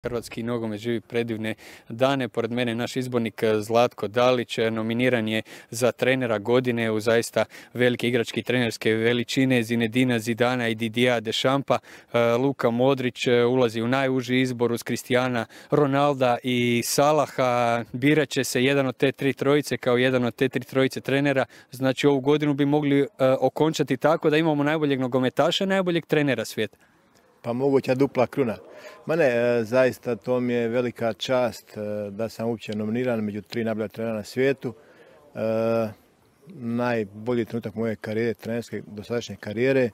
Hrvatski nogomet živi predivne dane. Pored mene naš izbornik Zlatko Dalić nominiran je za trenera godine u zaista velike igračke i trenerske veličine Zinedina Zidana i Didija Dešampa. Luka Modrić ulazi u najuži izbor uz Kristijana Ronalda i Salaha. Birat će se jedan od te tri trojice kao jedan od te tri trojice trenera. Znači ovu godinu bi mogli okončati tako da imamo najboljeg nogometaša, najboljeg trenera svijeta. Pa moguća dupla kruna. Ma ne, zaista to mi je velika čast da sam uopće nominiran među tri najbolja trenera na svijetu. Najbolji trenutak moje karijere, trenerske dosadašnje karijere,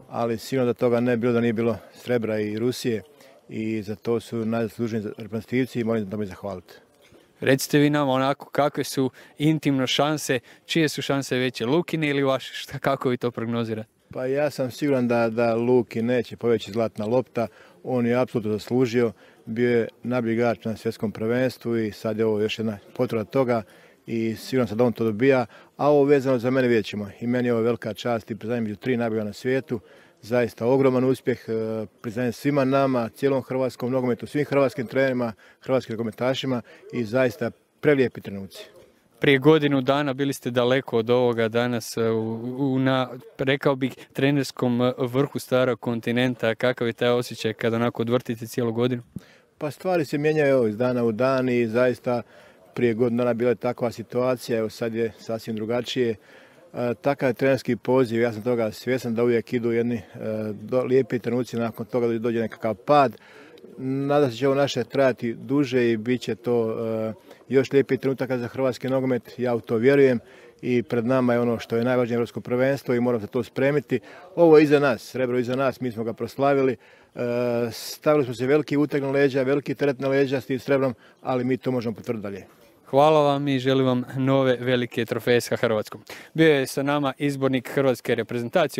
ali sigurno da toga ne bilo da nije bilo Srebra i Rusije i za to su najzaslužniji reprezentativci i moram da mi zahvaliti. Recite vi nam onako kakve su intimno šanse, čije su šanse veće, Lukine ili vaše, kako vi to prognozirate? Pa ja sam siguran da Luki neće poveći zlatna lopta, on je apsolutno zaslužio, bio je najbolji igrač na svjetskom prvenstvu i sad je ovo još jedna potvrda toga i siguran sam da on to dobija, a ovo vezano za mene vidjet ćemo. I meni je ovo velika čast i priznajem među tri najbolja na svijetu, zaista ogroman uspjeh, priznajem svima nama, cijelom hrvatskom nogometu, svim hrvatskim trenerima, hrvatskim nogometašima i zaista prelijepi trenuci. Prije godinu dana bili ste daleko od ovoga, danas na, rekao bih, trenerskom vrhu starog kontinenta. Kakav je taj osjećaj kada onako odvrtite cijelu godinu? Pa stvari se mijenjaju iz dana u dan i zaista prije godinu dana bila je takva situacija, evo sad je sasvim drugačije. Takav je trenerski poziv, ja sam toga svjestan da uvijek idu jedni lijepi trenuci, nakon toga dođe nekakav pad. Nadam se da će ovo naše trajati duže i bit će to još lijepih trenutaka za hrvatski nogomet, ja u to vjerujem i pred nama je ono što je najvažnije europsko prvenstvo i moramo se to spremiti. Ovo je iza nas, Srebro iza nas, mi smo ga proslavili, stavili smo se veliki uteg na leđa, veliki teret na leđa s tim Srebrom, ali mi to možemo potvrditi dalje. Hvala vam i želim vam nove velike trofeje sa Hrvatskom. Bio je sa nama izbornik hrvatske reprezentacije.